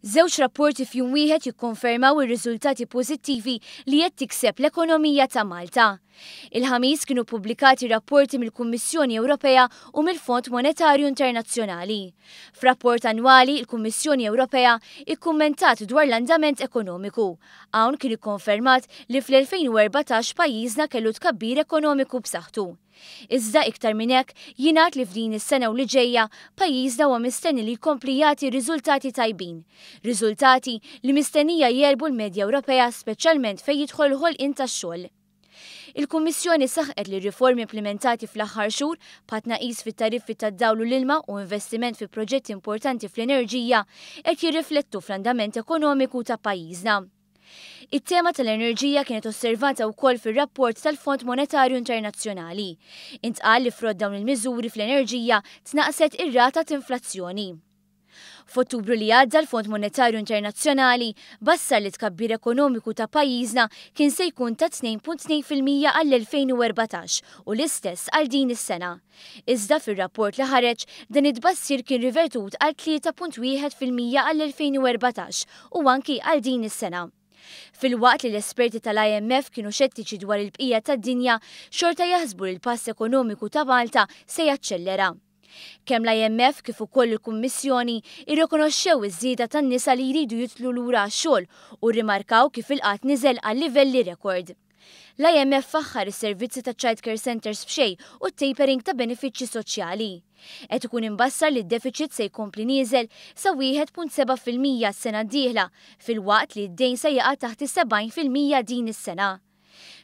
Żewġ rapporti f'jum wieħed jikkonfermaw ir-riżultati pożittivi li qed tikseb l-ekonomija ta' Malta. Il-Ħamis kienu ppubblikati rapporti mill-Kummissjoni Ewropea u mill-Fond Monetarju Internazzjonali. F'rapport annwali, il-Kummissjoni Ewropea ikkummentat dwar l-andament ekonomiku. Hawn kien ikkonfermat li fl-2014 pajjiżna kellu tkabbir ekonomiku b'saħħtu. Iżda iktar minn hekk, jingħad li f'din is-sena u li ġejja, pajjiżna huwa mistenni li jkompli jagħti riżultati tajbin. Riżultati li mistennija jegħlbu l-medja Ewropea speċjalment fejn jidħol il-ħolqien tax-xogħol. Il-Kummissjoni saħqet li r-riformi implimentati fl-aħħar xhur, bħat-tnaqqis fit-tariffi tad-dawl u l-ilma u investiment fi proġetti importanti fl-enerġija, qed jirriflettu fl-andament ekonomiku ta' pajjiżna. It-tema tal-enerġija kienet osservata wkoll fir-rapport tal-Fond Monetarju Internazzjonali. Intqal li frott dawn il-miżuri fl-enerġija tnaqqset ir-rata t'inflazzjoni. F'Ottubru li għadda l-Fond Monetarju Internazzjonali bassar li t-tkabbir ekonomiku ta' pajjiżna kien se jkun ta' 2.2% għall-2014 u l-istess għal din is-sena. Iżda fir-rapport li ħareġ, dan it-tbassir kien rivertut għal 3.1% għall-2014 u anki għal din is-sena. Filwaqt li l-esperti tal-IMF kienu xettiċi dwar il-bqija tad-dinja, xorta jaħsbu li l-pass ekonomiku ta' Malta se jaċċellera. Kemm l-IMF kif ukoll il-Kummissjoni irrikonoxxew iż-żieda tan-nisa li jridu jidħlu lura għax-xogħol u rrimarkaw kif il-qgħad niżel għal livelli rekord. L-IMF faħħar is-servizzi ta' child care centres b'xejn u t-tapering ta' benefiċċji soċjali. Qed ikun imbassar li d-defiċit se jkompli nieżel sa 1.7% s-sena d-dieħla, filwaqt li d-dejn se jaqa' taħt is-70% din is-sena.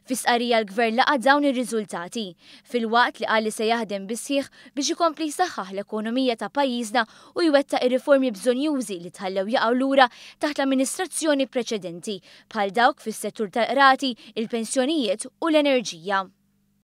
Fi stqarrija l-Gvern laqa' dawn ir-riżultati, filwaqt li qal li se jaħdem bis-sħiħ biex ikompli jsaħħaħ l-ekonomija ta' pajjiżna u jwettaq ir-riformi bżonnjużi li tħallew jaqgħu lura taħt l-amministrazzjoni preċedenti, bħal dawk fis-settur tal-qrati, il-pensjonijiet u l-enerġija.